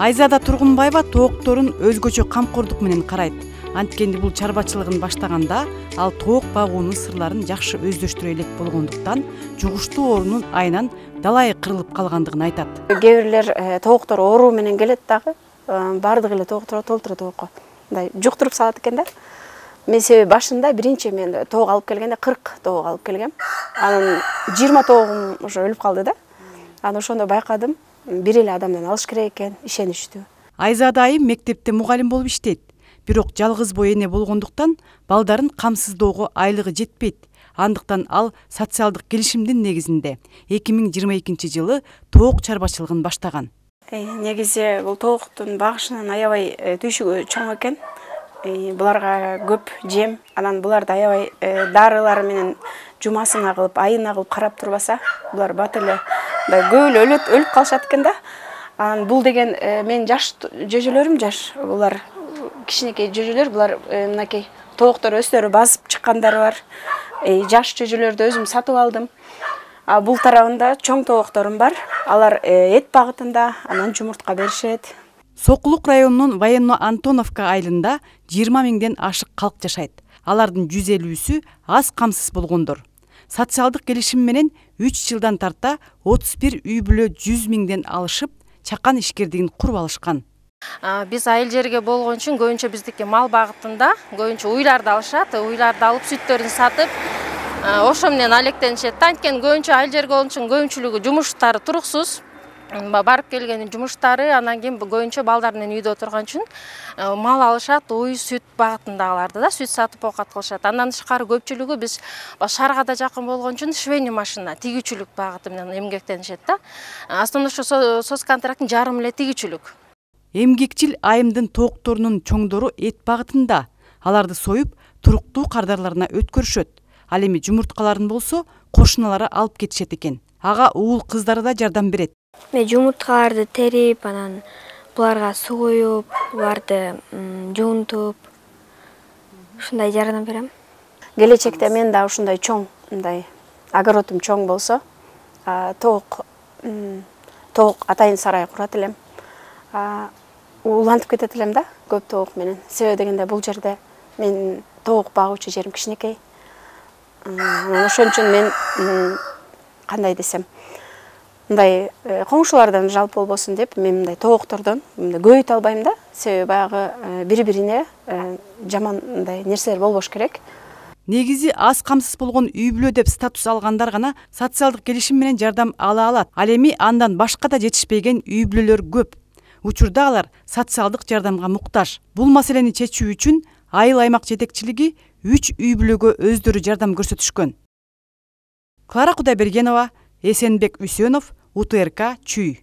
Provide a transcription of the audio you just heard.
Айзада Тургунбаева тоокторун өзгөчө камкордук менен карайт. Анткени бул чарбачылыгын баштаганда ал тоок багуунун сырларын жакшы өздөштүрө элек болгондуктан жугуштуу оорунун айынан далайы кырылып калгандыгын айтат. Кээ бирлер тооктор оору менен келет дагы, баардык эле тооктор толтура тоокко мындай жуктуруп салат экен да. Мен себеби башында биринчи мен тоок алып келгенде 40 тоок алып келгем. Анан 20 тоогум уже өлүп калды да. Анан ошондо байкадым, бир эле адамдан алыш керек экен, ишеничтүү. Айзада айым мектепте мугалим болуп иштейт. Бирок жалгыз бой эне болгондуктан балдарын камсыздоого айлыгы жетпейт. Андыктан ал социалдык келишимдин негизинде 2022-жылы тоок чарбачылыгын баштаган. Негизи бул тооктун багышынын аябай түйшүгү чоң экен. Буларга көп жем, анан буларды аябай дарылар менен жумасына кылып, айына кылып карап турбаса, булар бат эле мындай өлүп калышат экен да. Анан бул деген мен жаш жөжөлөрүм жаш, булар кичинекей жөжөлөр, булар мынакей тооктор өздөрү басып чыккандары бар. Жаш жөжөлөрдү өзүм сатып алдым. Бул тарабында чоң тоокторум бар. Алар эт багытында, анан жумуртка беришет. Сокулук районунун Военно-Антоновка айылында 20 миңден ашык калк жашайт. Алардын 150-сү аз камсыз болгондор. Социалдык келишим менен 3 жылдан тарта 31 үй бүлө 100 миңден алышып, чакан ишкердигин куруп алышкан. Биз айыл жерге болгон үчүн көбүнчө биздики мал багытында көбүнчө уйларды алышат, уйларды алып сүттөрүн сатып, ошо менен алектенишет. Анткени көбүнчө айыл жерге болгон үчүн көбүнчүлүгү жумуштары туруксуз. Барып келгенин жумуштары, анан кийин көбүнчө балдар менен үйдө отурган үчүн мал алышат, уй, сүт багытындагыларды да сүт сатып оокат кылышат. Андан тышкары көпчүлүгү биз шаарга да жакын болгон үчүн швейный машина, тигүүчүлүк багыты менен эмгектенишет да. Основной ошо соцконтракттын жарымы эле тигүүчүлүк. Эмгекчил айымдын тоокторунун чоңдору эт багытында. Аларды союп, туруктуу кардарларына өткөрүшөт. Ал эми жумурткаларын болсо кошуналары алып кетишет экен. Ага уул кыздары да жардам берет. Мен жумурткаларды терип, анан буларга суу куюп, буларды жуунтуп, ушундай жардам берем. Келечекте мен да ушундай чоң, мындай огородум чоң болсо, тоок атайын сарай курат элем. Улантып кетет элем да, көп тоок менен. Себеби дегенде бул жерде мен тоок багуучу жерим кичинекей. Анан ошон үчүн мен кандай десем, мындай коңшулардан жалп болбосун деп, мен мындай тооктордон көбөйтө албайм да. Себеби баягы бири-бирине жаман мындай нерселер болбош керек. Негизи аз камсыз болгон үй бүлө деп статус алгандар гана социалдык келишим менен жардам ала алат. Ал эми андан башка да жетишпеген үй бүлөлөр көп. Учурда алар социалдык жардамга муктаж. Бул маселени чечүү үчүн айыл аймак жетекчилиги 3 үй бүлөгө өздөрү жардам көрсөтүшкөн. Клара Кудайбергенова, Эсенбек Үсөнов, УТРК Чүй.